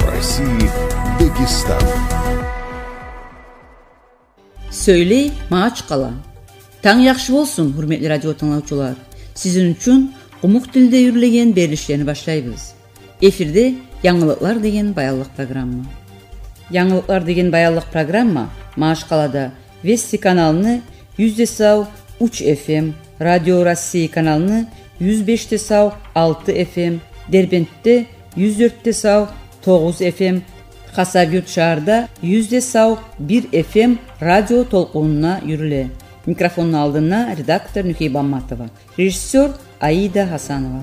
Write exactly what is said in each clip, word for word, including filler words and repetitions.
России, Дагестан. Сёйлей Магьачкъала. Танг яхшы болсун, гьюрметли радио тынглавчулар. Сизин учун къумукъ тилде юрюлеген берилишлени башлайбыз. Эфирде «Янгылыкълар» деген баянлыкъ программа. «Янгылыкълар» деген баянлыкъ программа Магьачкъалада Вести каналны юз де сав уьч F M, Радио России каналны юз беш де сав алты F M, Дербентде юз дёрт де сав тогъуз F M, Хасавюрт шагьарда юз де сав бир F M радио толкъунунда юрюле. Микрофонну алдында редактор Нюхей Бамматова, режиссёр Аида Гьасанова.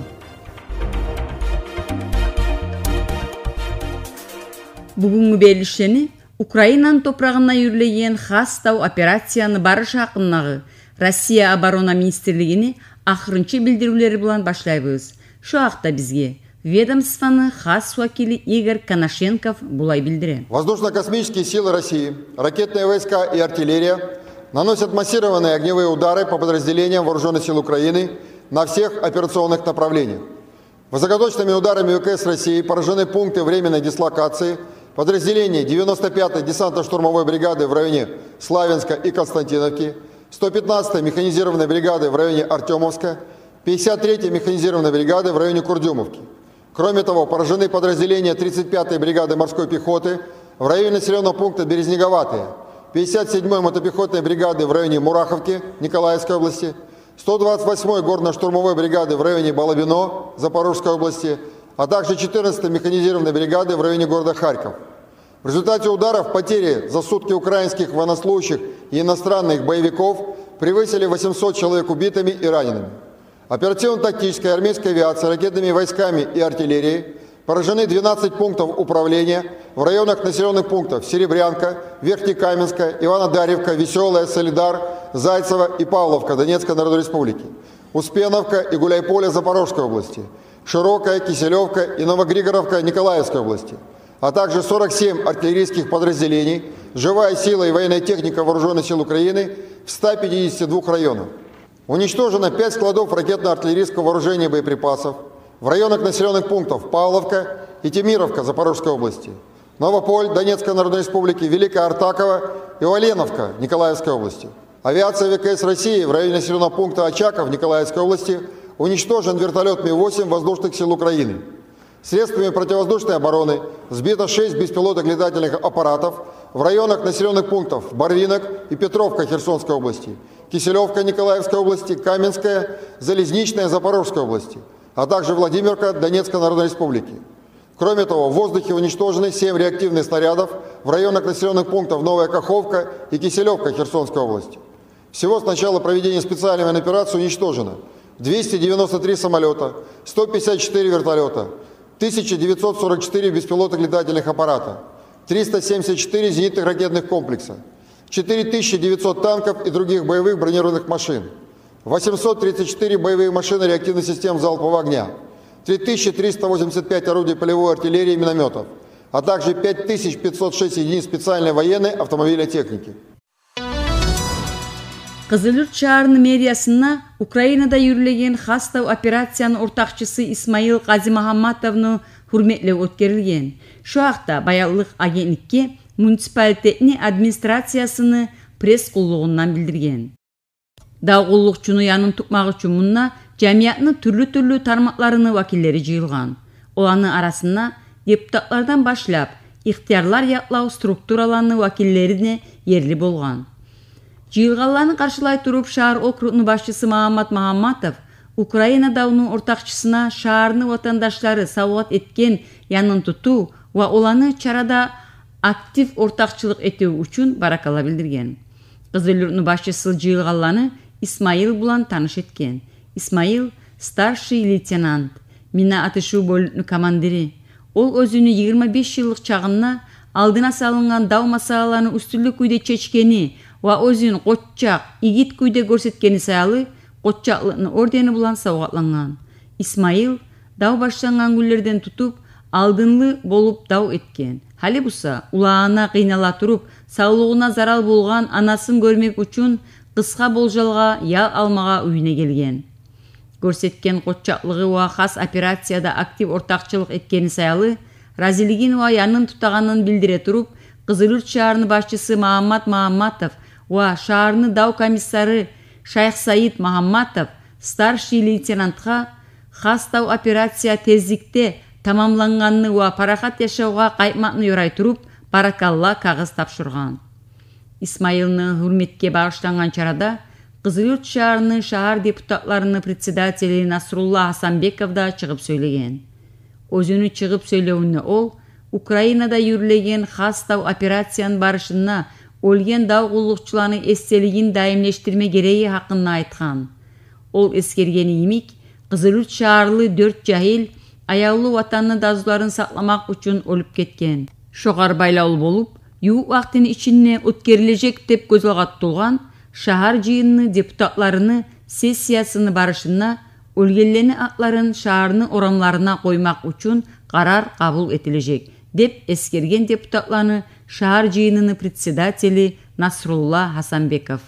Бугюнгю берилишлени Украинаны топурагъында юрюлеген хас дав операцияны барышы гьакъындагъы Россия оборона министрлигини ахырынчы билдиривлери булан башлайбыз. Шо гьакъда бизге ведомствону хас вакили Игорь Конашенков булай билдире. Воздушно-космические силы России, ракетные войска и артиллерия наносят массированные огневые удары по подразделениям вооружённых сил Украины на всех операционных направлениях. Высокоточными ударами В К С России поражены пункты временной дислокации подразделений девяносто пятой десантно-штурмовой бригады в районе Славянска и Константиновки, сто пятнадцатой механизированной бригады в районе Артёмовска, пятьдесят третьей механизированной бригады в районе Курдюмовки. Кроме того, поражены подразделения тридцать пятой бригады морской пехоты в районе населённого пункта Березниковатая, пятьдесят седьмой мотопехотной бригады в районе Мураховки Николаевской области, сто двадцать восьмой горно-штурмовой бригады в районе Балабино Запорожской области, а также четырнадцатой механизированной бригады в районе города Харьков. В результате ударов потери за сутки украинских военнослужащих и иностранных боевиков превысили восемьсот человек убитыми и ранеными. Оперативно-тактической армейской авиацией, ракетными войсками и артиллерией поражены двенадцать пунктов управления в районах населённых пунктов Серебрянка, Верхнекаменская, Иванодарьевка, Весёлая, Солидар, Зайцево и Павловка Донецкой Народной Республики, Успеновка и Гуляйполе Запорожской области, Широкая, Киселёвка и Новогригоровка Николаевской области, а также сорок семь артиллерийских подразделений, живая сила и военная техника вооружённых сил Украины в ста пятидесяти двух районах. Уничтожено пять складов ракетно-артиллерийского вооружения и боеприпасов в районах населённых пунктов Павловка и Темировка Запорожской области, Новополь Донецкой Народной Республики, Великая Артаковка и Оленовка Николаевской области. Авиацией В К С России в районе населённого пункта Очаков Николаевской области уничтожен вертолёт Ми восемь воздушных сил Украины. Средствами противовоздушной обороны сбито шесть беспилотных летательных аппаратов в районах населённых пунктов Барвинок и Петровка Херсонской области, Киселёвка Николаевской области, Каменская, Залезничная Запорожской области, а также Владимировка Донецкой Народной Республики. Кроме того, в воздухе уничтожены семь реактивных снарядов в районах населённых пунктов Новая Каховка и Киселёвка Херсонской области. Всего с начала проведения специальной военной операции уничтожено двести девяносто три самолёта, сто пятьдесят четыре вертолёта, тысяча девятьсот сорок четыре беспилотных летательных аппарата, триста семьдесят четыре зенитных ракетных комплекса, четыре тысячи девятьсот танков и других боевых бронированных машин, восемьсот тридцать четыре боевые машины реактивных систем залпового огня, три тысячи триста восемьдесят пять орудий полевой артиллерии и миномётов, а также пять тысяч пятьсот шесть единиц специальной военной автомобильной техники. Къызылюрт шагьарны мэриясында Украинада юрюлеген хас дав операцияны ортакъчысы Исмаил Къазимагьамматовну гьюрметлев оьтгерилген. Шо гьакъда Баянлыкъ агентликге муниципалитетни администрациясыны пресс-къуллугъундан билдирген. Дав къуллукъчуну янын тутмакъ учун мунда жамиятны тюрлю-тюрлю тармакъларыны вакиллери жыйылгъан. Оланы арасында депутатлардан башлап, ихтиярлар якълав структураланы вакиллери де ерли болгъан. Жыйылгъанланы къаршылай туруп, шагьар округну башчысы Магьаммат Магьамматов Украина давну ортакъчысына шагьарны ватандашлары савгъат этген янын тутув ва оланы чарада актив ортакъчылыкъ этив учун баракалла билдирген. Къызылюртну башчысы жыйылгъанланы Исмаил булан таныш этген. Исмаил — старший лейтенант, мина атышыв бёлюкню командири. Ол оьзюню йигирма беш йыллыкъ чагъында алдына салынгъан дав масъалаланы уьстюнлю кюйде чечгени ва оьзюн къоччакъ, игит кюйде гёрсетгени саялы Къоччакълыкъны ордени булан савгъатлангъан. Исмаил дав башлангъан гюнлерден тутуп алдынлы болуп дав этген. Гьали буса, улагъына къыйнала туруп, савлугъуна зарал болгъан анасын гёрмек учун къысгъа болжалгъа ял алмагъа уьюне гелген. Гёрсетген къоччакълыгъы ва хас операцияда актив ортакъчылыкъ этгени саялы разилигин ва янын тутагъанын билдире туруп, Къызылюрт шагьарны башчысы Магьаммат Магьамматов ва шагьарны дав комиссары Шайхсаид Магьамматов старший лейтенантгъа хас дав операция тезликде тамамлангъанны ва парахат яшавгъа къайтмакъны ёрай туруп, баракалла кагъыз тапшургъан. Исмайылны гьюрметге багъышлангъан чарада Къызылюрт шагьарны шагьар депутатларыны председатели Насрулла Гьасанбеков да чыгъып сёйлеген. Оьзюню чыгъып сёйлевюнде ол Украинада юрюлеген хас дав операцияны барышында оьлген дав къуллукъчуланы эсделигин даимлешдирме герекдиги гьакъында айтгъан. Ол эсгерген йимик, Къызылюрт шагьарлы дёрт жагьил аявлу ватанны дазуларын сакъламакъ учун оьлюп гетген. Шогъар байлавлу болуп, ювукъ вакътини ичинде оьтгерилежек деп гёз алгъа тутулгъан шагьар жыйынны депутатларыны сессиясыны барышында оьлгенлени атларын шагьарны орамларына къоймакъ учун къарар къабул этилежек, деп эсгерген депутатланы шагьар жыйыныны председатели Насрулла Гьасанбеков.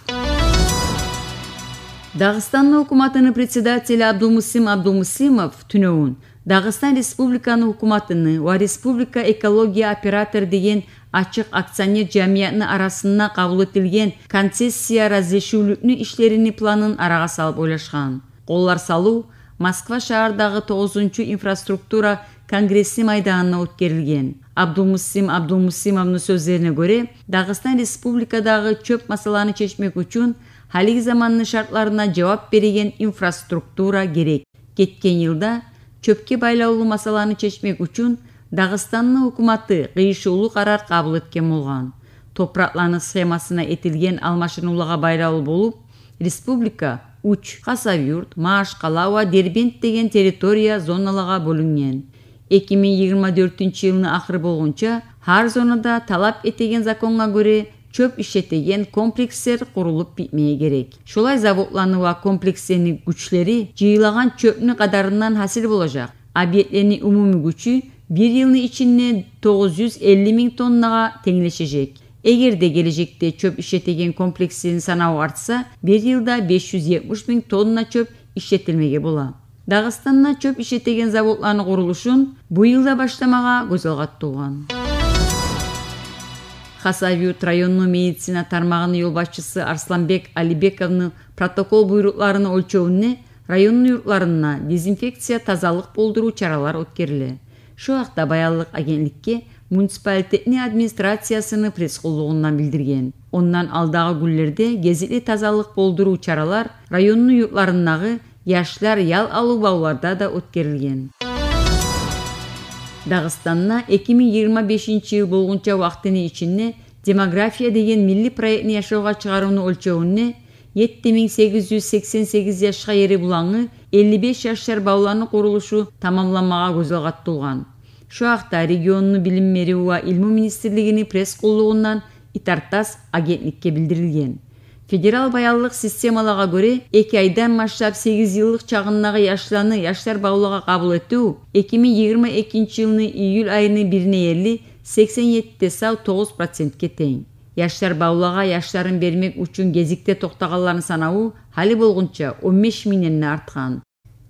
Дагъыстанны гьукуматыны председатели Абдулмуслим Абдулмуслимов тюнегюн Дагъыстан Республиканы гьукуматыны ва Республика экология оператор деген ачыкъ акционер жамиятны арасында къабул этилген концессия разрешивлюкню ишлерини планын арагъа салып ойлашгъан. Къоллар салыв Москва шагьардагъы тогъузунчу инфраструктура конгресси майданында оьтгерилген. Абдулмуслим Абдулмуслимовну сёзлерине гёре, Дагъыстан Республикадагъы чёп масъаланы чечмек учун гьалиги заманны шартларына жавап береген инфраструктура герек. Гетген йылда чёпге байлавлу масъаланы чечмек учун Дагъыстанны гьукуматы къыйышывлу къарар къабул этген болгъан. Топуракъланы схемасына этилген алмашынывлагъа байлавлу болуп, республика уьч: Хасавюрт, Магьачкъала ва Дербент деген территория зоналагъа бёлюнген. Эки минг йигирма дёртюнчю йылны ахыры болгъунча гьар зонада талап этеген законгъа гёре чёп ишлетеген комплекслер къурулуп битмеге герек. Шолай заводланы ва комплекслени гючлери жыйылагъан чёпню къадарындан гьасил болажакъ. Объектлени умумий гючю бир йылны ичинде тогъуз юз элли минг тоннагъа тенглешежек. Эгер де гележекде чёп ишлетеген комплекслени санаву артса, бир йылда беш юз етмиш минг тонна чёп ишлетилмеге бола. Дагъыстанда чёп ишлетеген заводланы къурулушун бу йылда башламагъа гёз алгъа тутулгъан. Хасавюрт районну медицина тармагъыны ёлбашчысы Арсланбек Алибековну протокол буйрукъларыны оьлчевюнде районну юртларында дезинфекция, тазалыкъ болдурув чаралар оьтгериле. Шу гьакъда Баянлыкъ агентликге муниципалитетни администрациясыны пресс-къуллугъундан билдирген. Ондан алдагъы гюнлерде гезикли тазалыкъ болдурув чаралар районну юртларындагъы яшлар ял алыв бавларда да оьтгерилген. Дагъыстанда эки минг йигирма бешинчи йыл болгъунча вакътини ичинде «Демография» деген милли проектни яшавгъа чыгъарывну оьлчевюнде етти минг сегиз юз сексен сегиз яшгъа ери булангъы элли беш яшлар бавланы къурулушу тамамланмагъа гёз алгъа тутулгъан. Шу гьакъда регионну билим берив ва илму министрлигини пресс-къуллугъундан «Итартасс» агентликге билдирилген. Федерал баянлыкъ системалагъа гёре, эки айдан башлап сегиз йыллыкъ чагъындагъы яшланы яшлар бавлагъа къабул этив эки минг йигирма экинчи йылны июль айыны бирине ерли сексен етти де сав тогъуз процентге тенг. Яшлар бавлагъа яшларын бермек учун гезикде токътагъанланы санаву гьали болгъунча он беш мингден де артгъан.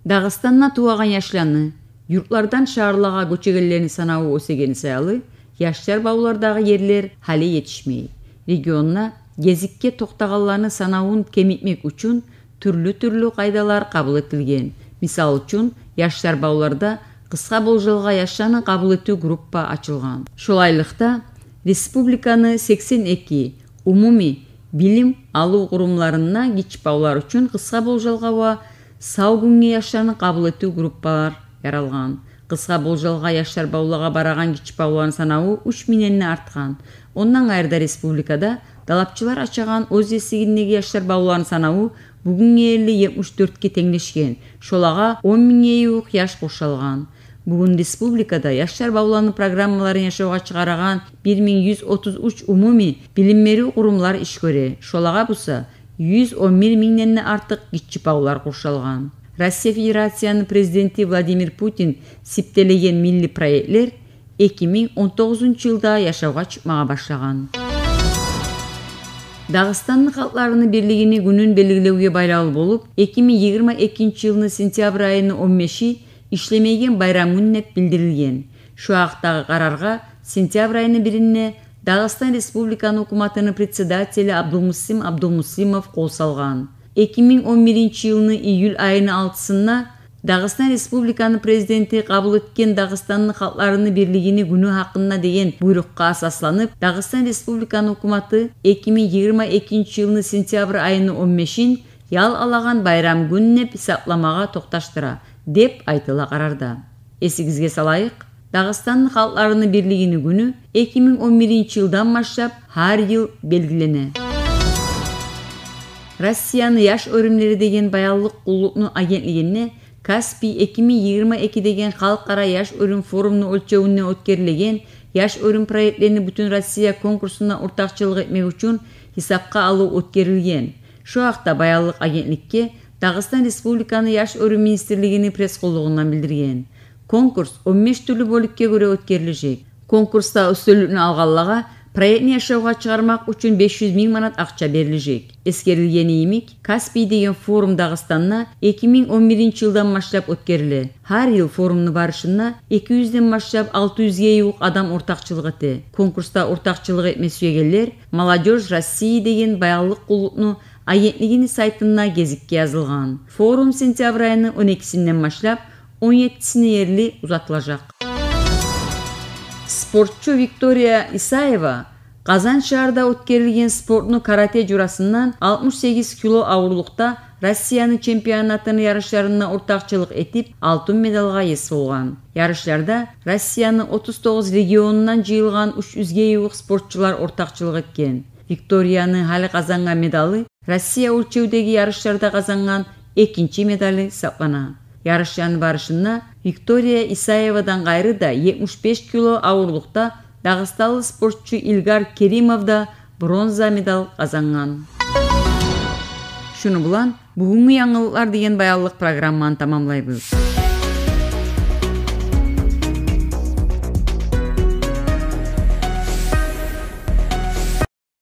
Дагъыстанда тувагъан яшланы, юртлардан шагьарлагъа гёчегенлени санаву оьсегени саялы, яшлар бавлардагъы ерлер гьали етишмей. Регионда гезикге токътагъанланы санавун кемитмек учун тюрлю-тюрлю къайдалар къабул этилген. Мисал учун, яшлар бавларда къысгъа болжалгъа яшланы къабул этив группа ачылгъан. Шолайлыкъда, республиканы сексен эки умумий билим алыв къурумларында гиччи бавлар учун къысгъа болжалгъа ва сав гюнге яшланы къабул этив группалар яралгъан. Къысгъа болжалгъа яшлар бавлагъа барагъан гиччи бавланы санаву уьч мингден де артгъан. Ондан къайры да, республикада далапчылар ачагъан оьз есигиндеги яшлар бавланы санаву бугюнге ерли етмиш дёртге тенглешген. Шолагъа он мингге ювукъ яш къуршалгъан. Бугюн республикада яшлар бавланы программаларын яшавгъа чыгъарагъан бир минг юз отуз уьч умумий билим берив къурумлар иш гёре. Шолагъа буса юз он бир мингден де артыкъ гиччи бавлар къуршалгъан. Россия Федерацияны Президенти Владимир Путин сиптелеген милли проектлер эки минг он тогъузунчу йылда яшавгъа чыкъмагъа башлагъан. Дагъыстанны халкъларыны бирлигини гюнюн белгилевге байлавлу болуп, эки минг йигирма экинчи йылны сентябрь айыны он беши ишлемейген байрам гюн деп билдирилген. Шу гьакъдагъы къараргъа сентябрь айны биринде Дагъыстан Республиканы гьукуматыны председатели Абдулмуслим Абдулмуслимов къол салгъан. Эки минг он биринчи йылны июль айыны алтысында Дагъыстан Республиканы Президенти къабул этген Дагъыстанны халкъларыны бирлигини гюню гьакъында деген буйрукъгъа асасланып, Дагъыстан Республиканы гьукуматы эки минг йигирма экинчи йылны сентябрь айыны он бешин ял алагъан байрам гюн деп гьисапламагъа токъташдыра, деп айтыла къарарда. Эсигизге салайыкъ, Дагъыстанны халкъларыны бирлигини гюню эки минг он биринчи йылдан башлап гьар йыл белгилене. Россияны яш оьрюмлери деген баянлыкъ къуллукъну агентлигинде «Каспий эки минг йигирма эки» деген халкъара яш оьрюм форумну оьлчевюнде оьтгерилеген яш оьрюм проектлени Бютюнроссия конкурсуна ортакъчылыкъ этмек учун гьисапгъа алыв оьтгерилген. Шу гьакъда баянлыкъ агентликге Дагъыстан Республиканы Яш оьрюм министрлигини пресс-къуллугъундан билдирген. Конкурс он беш тюрлю бёлюкге гёре оьтгерилежек. Конкурсда уьстюнлюкню алгъанлагъа проектни яшавгъа чыгъармакъ учун беш юз минг манат акъча берилежек. Эсгерилгени йимик, «Каспий» деген форум Дагъыстанда эки минг он биринчи йылдан башлап оьтгериле. Гьар йыл форумну барышында эки юзден башлап алты юзге ювукъ адам ортакъчылыкъ эте. Конкурсда ортакъчылыкъ этме сюегенлер «Молодёжь России» деген баянлыкъ къуллукъну агентлигини сайтында гезикге язылгъан. Форум сентябрь айыны он экисинден башлап он еттисине ерли узатылажакъ. Спортчу Виктория Исаева Къазан шагьарда оьтгерилген спортну каратэ журасындан алтмыш сегиз кило авурлукъда Россияны чемпионатыны ярышларында ортакъчылыкъ этип, алтын медалгъа ес болгъан. Ярышларда Россияны отуз тогъуз регионундан жыйылгъан уьч юзге ювукъ спортчулар ортакъчылыкъ этген. Викторияны гьали къазангъан медалы Россия оьлчевдеги ярышларда къазангъан экинчи медалы гьисаплана. Ярышланы барышында Виктория Исаевадан къайры да етмиш беш кило авурлукъда дагъыстанлы спортчу Илгар Керимов да бронза медал къазангъан. Шуну булан «Бугюнгю янгылыкълар» деген баянлыкъ программаны тамамлайбыз.